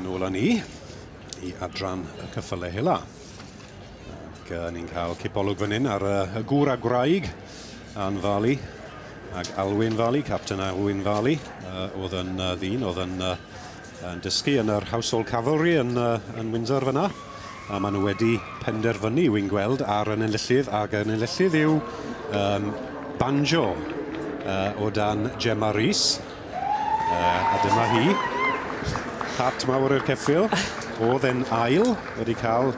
Nôl â ni i adran y ceffylau hela. Ac ni'n cael cipolwg fan hyn ar y gŵr a gwraig, Ann Varley ac Alwyn Varley, Captain Alwyn Varley, oedd yn ddyn, oedd yn dysgu yn yr Household Cavalry yn Windsor fyna. A maen nhw wedi penderfynu, wy'n gweld, ar yn enillydd, ac yn enillydd yw Banjo o dan Gemma Rees. A dyma hi. Hat mawr i'r ceffyl. Oedd e'n ail, wedi cael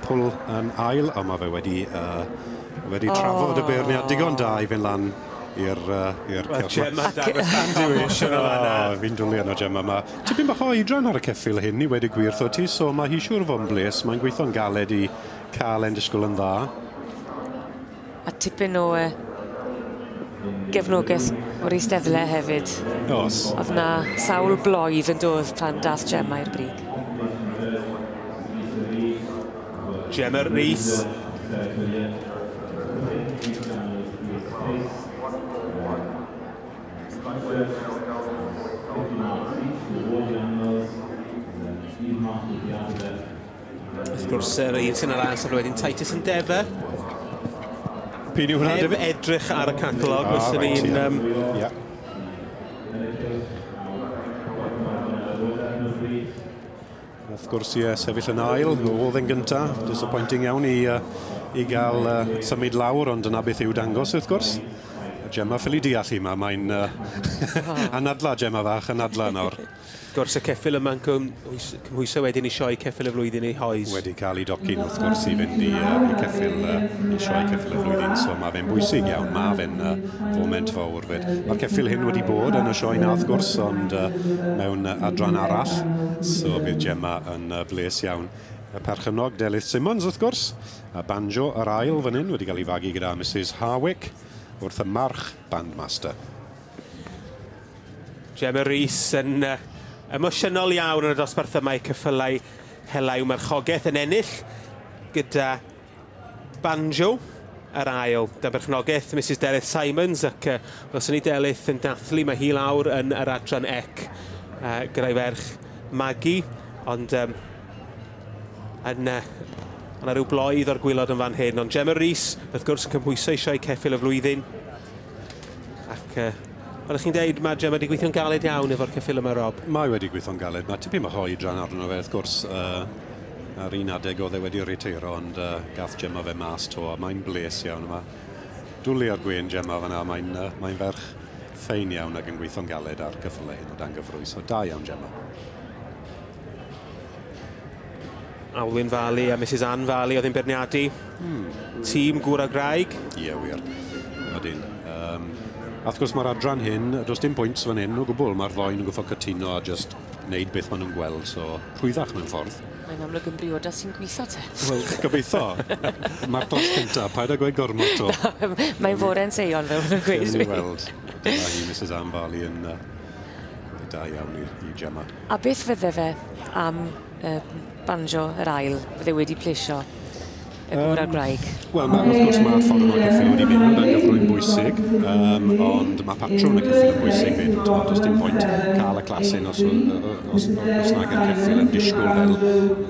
pwl yn ail, ond mae fe wedi trafod y beirniad digon da i fynd lan i'r Gemma dangos emotional yna. Fi'n dwlu arno Gemma. Mae tipyn bach o oedran ar y ceffyl hyn i wedi gwir wrtho ti, so mae hi siŵr fod yn bles. Mae'n gweithio'n galed i cael e'n disgwyl yn dda. A tipyn o gefnogaeth o'r eisteddle hefyd. Os. Oedd na sawl bloedd yn dod pan dath Gemma i'r brig. Gemma Rees. Wrth gwrs, yr un sy'n ar ail safle wedyn, Titus Endeavour. P'un yw hwnna, Heb David? edrych ar y catalog, fyswn i'n... Wrth gwrs, ie, sefyll yn ail, oedd yn gynta. Disappointing iawn i gael symud lawr, ond dyna beth yw dangos, wrth gwrs. Gemma ffili deall hi yma, mae'n anadla Gemma fach, anadla nawr. Wrth gwrs, y ceffyl yma'n cymhwyso wedyn i sioe ceffyl y flwyddyn ei hoes. Wedi cael ei docyn, wrth gwrs, i fynd i sioe ceffyl y flwyddyn, so mae fe'n bwysig iawn, mae fe'n foment fawr fyd. Mae'r ceffyl hyn wedi bod yn y sioe na, wrth gwrs, ond mewn adran arall, so bydd Gemma yn bles iawn. Y perchennog Delyth Simmons, wrth gwrs, a Banjo yr ail fan hyn wedi cael ei fagu gyda Mrs Harwick wrth y march Bandmaster. Gemma Rees yn emosiynol iawn yn y dosbarth yma i ceffylau hela i'w marchogaeth yn ennill gyda Banjo yr ail. Dan berchnogaeth Mrs Delyth Simons ac welson ni Delyth yn dathlu, mae hi lawr yn yr adran ec gyda'i ferch Maggie, ond yna rhyw bloedd o'r gwylod yn fan hyn. Ond Gemma Rees, wrth gwrs, yn cymhwyso i sioe ceffyl y flwyddyn. Ac fel ych chi'n deud, mae Gemma wedi gweithio'n galed iawn efo'r ceffyl yma, Rob. Mae wedi gweithio'n galed. Mae tipyn bach o oedran arno fe, wrth gwrs. Ar un adeg oedd e wedi riteiro, ond gath Gemma fe mas to, a mae'n bles iawn yma. Dwlu ar gwên Gemma fan'na, mae'n ferch ffein iawn ac yn gweithio'n galed ar ceffylau hyn o dan gyfrwy, so da iawn Gemma. Alwyn Varley a Mrs Ann Varley oedd yn beirniadu. Tîm gŵr a gwraig. Ie, wir. Odyn. A wrth gwrs mae'r adran hyn, does dim pwynt fan hyn o gwbl, mae'r ddoen yn gwffo cytuno a just wneud beth maen nhw'n gweld, so rhwyddach mewn ffordd. Mae'n amlwg yn briodas sy'n gweithio te. Wel, gobeithio. Mae'r clas cynta, paid â gweud gormod to. Mae'n fore'n seion fel maen nhw'n gweud. Gewn ni weld. Dyma hi, Mrs Ann Varley, yn da iawn i Gemma. A beth fydde fe am Banjo yr ail, fydde wedi plesio y gŵr a'r gwraig? Wel, wrth gwrs mae'r ffordd yma'r ceffyl wedi mynd, dan gyfrwy'n bwysig, ond mae patrwn y ceffyl yn bwysig fyd. Does dim pwynt cael y clasyn os nag yw'r ceffyl yn disgwyl fel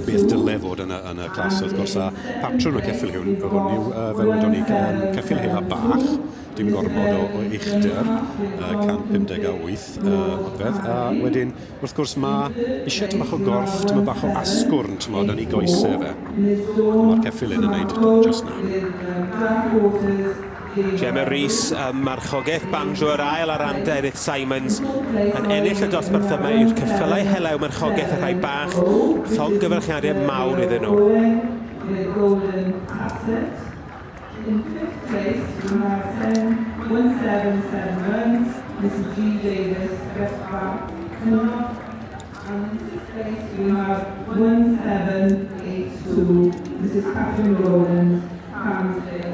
beth dyle fod yn y clas, wrth gwrs. A patrwn y ceffyl hwn yw, fel wedon ni, ceffyl hela bach, dim gormod o uchder, 158 modfedd. A wedyn, wrth gwrs, mae eisiau tamaid bach o gorff, tamaid bach o asgwrn, tymod, yn ei goesau fe. Mae'r ceffyl hyn yn gwneud just na. Gemma Rees, marchogaeth Banjo yr ail ar ran Delyth Simons yn ennill y dosbarth yma i'r ceffylau helew marchogaeth y rhai bach, llongyfarchiadau mawr iddyn nhw. In fifth place, we have 1771, Mrs G. Davis, West Park, Cynnog. And in sixth place, we have 1782, Mrs Catherine Rowlands, Cransley.